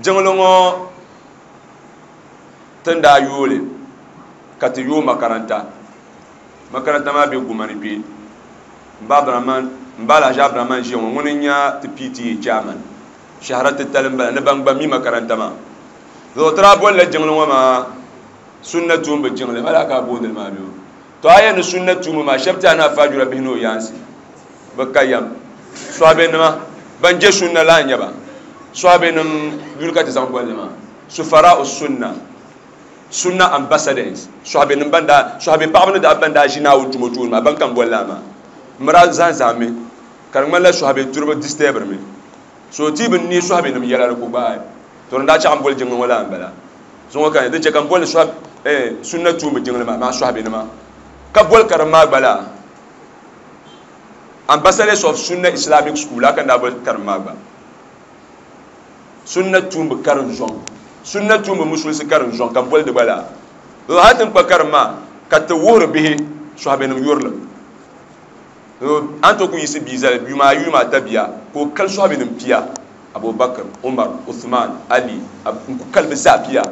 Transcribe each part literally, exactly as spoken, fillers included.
Jiŋli ŋɔ tin daa yooli ka ti yoo makaranta. Makaranta maa be Gumani kpe. Mba Abdurahman, Mba Alhaji Abdurahman ʒiya ŋɔ, ŋuni n-nya ti P T A chairman. Shahara titali m-bala ni ban gba mi makaranta maa. Zuɣu ti daa bolila jiŋli ŋɔ maa sunna tuumbu jiŋli. Mala ka a boondili maa bɛ o. To a yɛn ni sunna tuumbu maa shɛba ti a ni afa jura bihi ni o yaansi. Bɛ ka yam. Sɔhibenima ban je sunna la n-nyɛ ba. Sɔhibenim yuli ka ti zaŋ bolli maa. Sufara o sunna. Sunna ambassadors. Sɔhibenim ban daa, sɔhibe paɣaba ni daa ban daa ʒi Naawuni tumo tooni maa, ban kam bolli a maa. Mira zan zaŋmi ka di ŋmanila sɔhibe turiba disturbiri mi. So ti bi neei sɔhibenim yɛla di ku gbaai. To ni daa chaɣ m-boli jiŋli ŋɔ la m-bala. Zuŋɔ ka din chɛ ka m boli sɔhib, eh, sunna tuumbu jiŋli maa, maa sɔhibenima. Ka boli karim maa gba la Ambassadors of Sunna Islamic School, la ka n daa boli karim maa gba. Sunna tuumbu karim zɔŋ. Sunna tuumbu musulisi karim zɔŋ ka m boli di gba la. Hali ti ni kpa karim maa ka ti wuhiri bihi sɔhibenim yurilim. An to ku yiɣisi bia zali yuma ayi yuma ata bia ka o kali sɔhibenim pia. Abubakar, Umar, Uthman, Ali, n ku kali bɛ zaa pia.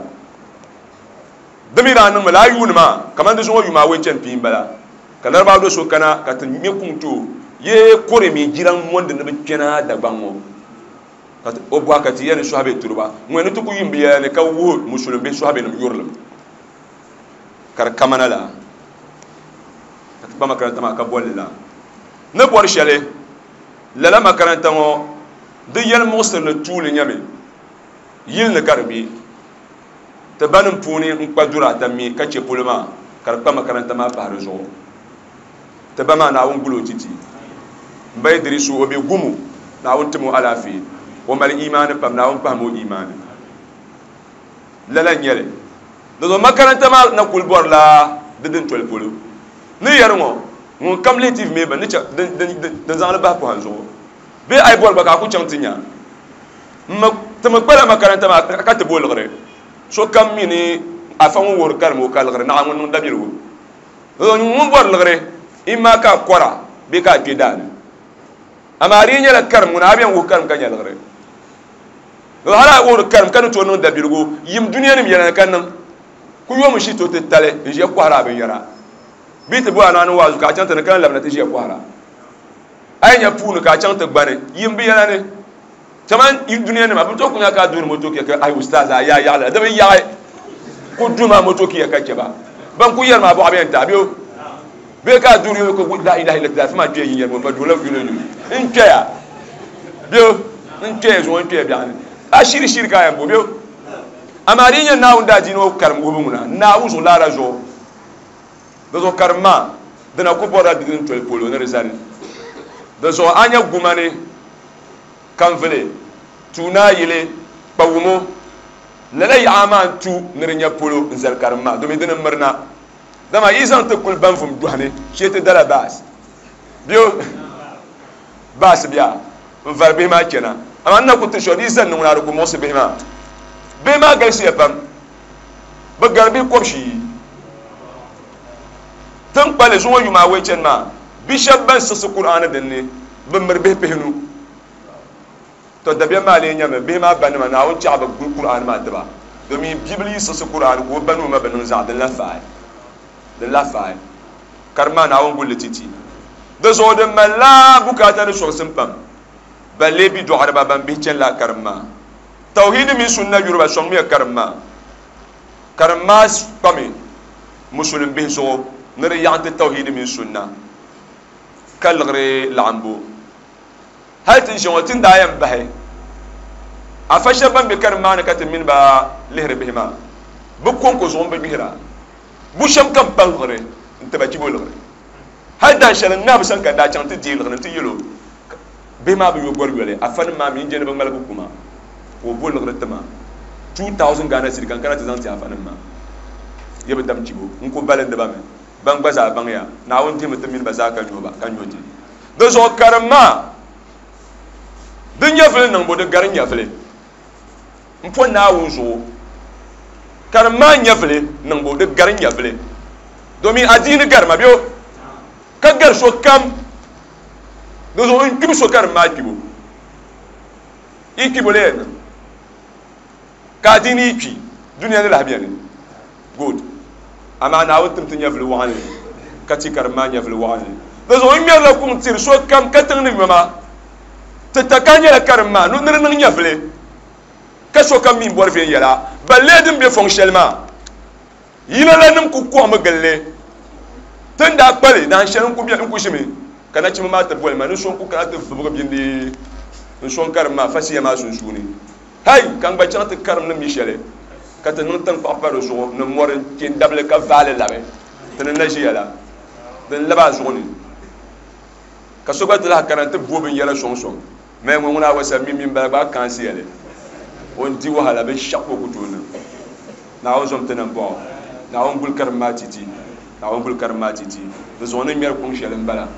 Di mi daa niŋmi laa yuuni maa kamani di zuŋɔ yuma awei chani pii m-bala ka Larabawa do so kana ka ti ŋme kuŋ ti o yee kore mi jiraŋ mondi ni bɛ kpɛna Dagbaŋ ŋɔ ka o bɔhi ka ti yɛli ni sɔhibe turiba ŋɔ ni ti ku yim bɛ yɛla ni ka wuhi musulim bihi sɔhibenim yurilim ka di kamana la ka ti kpa makaranta maa ka bolli la ni bɔri shɛli lala makaranta ŋɔ di yɛli muɣisirili tuuli nyɛmi yili ni ka di be ti banim puuni n kpa duri ata mi ka che polo maa ka di kpa makaranta maa pahi di zuɣu ti ba maa Naawuni guli o titi m ba Idrisu o be gumu Naawuni tim o alaafee o mali imaani pam Naawuni pahimi o imaani lala n-nyɛli di zuɣu makaranta maa na kuli bɔrila di din toli polo ni yɛri ŋɔ ŋun kam lihi T V mi ba ni che din zaŋli bahi pɔhim zuɣu bee a yi bɔri gba ka a ku chaŋ ti nya ti mi kpala makaranta maa ka ti bo liɣiri so kam mi ni afa ŋun wuhiri karim o ka liɣiri naɣa ŋun niŋ dabiligu ŋun bɔri liɣiri imma ka a kɔra bee ka a kpe daani amaa di yi nyɛla karim ŋuna a bɛn wuhi karim ka nya liɣiri hali a wuhiri karim ka ni tooi niŋ dabiligu yim duniya nim yɛla ni ka niŋ ku yomi shi to ti tali n ʒiya kɔhiri a binyɛra bee ti bɔri a naani waazu ka a chaŋ ti ni kana labina ti ʒiya kɔhira a yi nya puuni ka a chaŋ ti gbani yim bi yɛla ni kaman duniya nima bi tooi ku nya ka a duuri moto kiya ka ai ustaz a yaa yaɣali di bi yaɣi ku duma moto kiya ka chɛba ban ku yɛri maa bɔɣa bɛn taai bɛ bee ka a duuri yo ka la ilaha illallah fi maa kpɛya yin yɛri ŋɔ pa duurila yuli yuli n kpɛya bɛ n kpɛya zuŋɔ n kpɛya biɛɣuni a shiri shiri ka a yɛn bo bɛ amaa di yi nyɛ Naawuni daa diini o karim wuhibu ŋuna Naawuni zuɣu laara zuɣu di zuɣu karim maa dina ku bɔrila di din toli polo ni di zani di zuɣu a nya Gumani Kanvili Tuunayili Kpawumo lala yaɣa maa n tu ni di nya polo n zali karim maa domi dini n mirina dama yi zaŋ ti kuli banvum dɔhini shee ti dala baas bɛ baas bia n vari bihi maa chɛna amaa n na ku ti shɛli di yi zani ni ŋuna di ku muɣisi bihi maa bihi maa galisiya pam bi gari bihi kɔbishii tin kpali zuŋɔ yuma awei chɛni maa bi shɛba ban siɣisi Kur'aani dinni bi miri bihi pihinu to dabiɛm maa lee nyɛmi bihi maa banima Naawuni chaɣi bi guli Kur'aani maa tiba domin bibili yi siɣisi Kur'aani ka o ba ni o ma bi niŋ zaɣa din la faai din la faai karim maa Naawuni gulli titi di zuɣu din malila bukaata ni sɔŋsim pam ban lee bi dɔɣiriba ban bihi chɛni la karim maa tawhidi mini sunna yuriba sɔŋmiya karim maa karim maa kpami musulim bihi zuɣu ni di yaɣi ti tawhidi mini sunna ka liɣiri laɣimbu hali ti ʒi ŋɔ ti ni daa yɛn bahi afa shɛba ban be karim maa ni ka ti mini ba lihiri bihi maa bi konko zuɣu n bi gbihira bu shɛm kam pa liɣiri n tiba chibo liɣiri hali dan shɛli n ŋabi sani ka daa chaŋ ti deei liɣiri n ti yɛl o bihi maa bi yo gɔri yoli afa nim maa mi n je ni bi ŋmaligi kuma ka o bo liɣiri tima two thousand Ghana cedi ka n kana ti zaŋ ti afa nim maa yɛ bi dam chibo n ku balindi ba mi ban gba zaa baŋya Naawuni dihimi ti mini ba zaa ka nyo ba ka nyo ti di zuɣu karim maa di nyɛvili niŋbu di gari nyɛvili n po Naawuni zuɣu karim maa nyɛvili niŋbu di gari nyɛvili domin adiini garima bɛ o ka gari so kam di zuɣu n kpibu so karim maa kpibu i kpibu lee niŋ Ka adiini yi kpi, dunia ni lahi beni. Good. Amaa Naawuni tim ti nyɛvili waɣinli, ka ti karim maa nyɛvili waɣinli. Di zuɣu n ŋmɛrila kuŋ tiri sokam ka tiŋ ni yoma. Ti taka nyɛla karim maa ni di niŋ nyɛvili, ka sokam mi bɔri viɛnyɛla. Balle din be fɔŋ shɛli maa, yina la nim ku kɔɣimi gili li. Ti ni daa kpali dahin shɛli n-ku ʒimi, ka nachimba maa ti boli ma ni so n-ku kana ti vibigi bindi n-sɔŋ karim maa fasiya maa sunsuuni. Hai! Ka n gba chaŋ ti karim ni mi shɛli, ka ti niŋ taŋkpaɣu pa di zuɣu ni mɔri n-kpe n-dabili ka vaai li labi ti ni na ʒiya la, din lab a zuɣu ni. Ka so gba ti lahi kana nti bo binyɛra sɔŋsɔŋ. Maya ŋɔ ŋuna awasa mi mini bala gba a kaansiya li. O ni di wahala binshɛɣu ka o ku tooi niŋ. Naawuni zom ti nambɔɣu. Naawuni guli karim maa titi. Naawuni guli karim maa titi. Di zuɣu ni ŋmɛri kuŋ shɛli m-bala.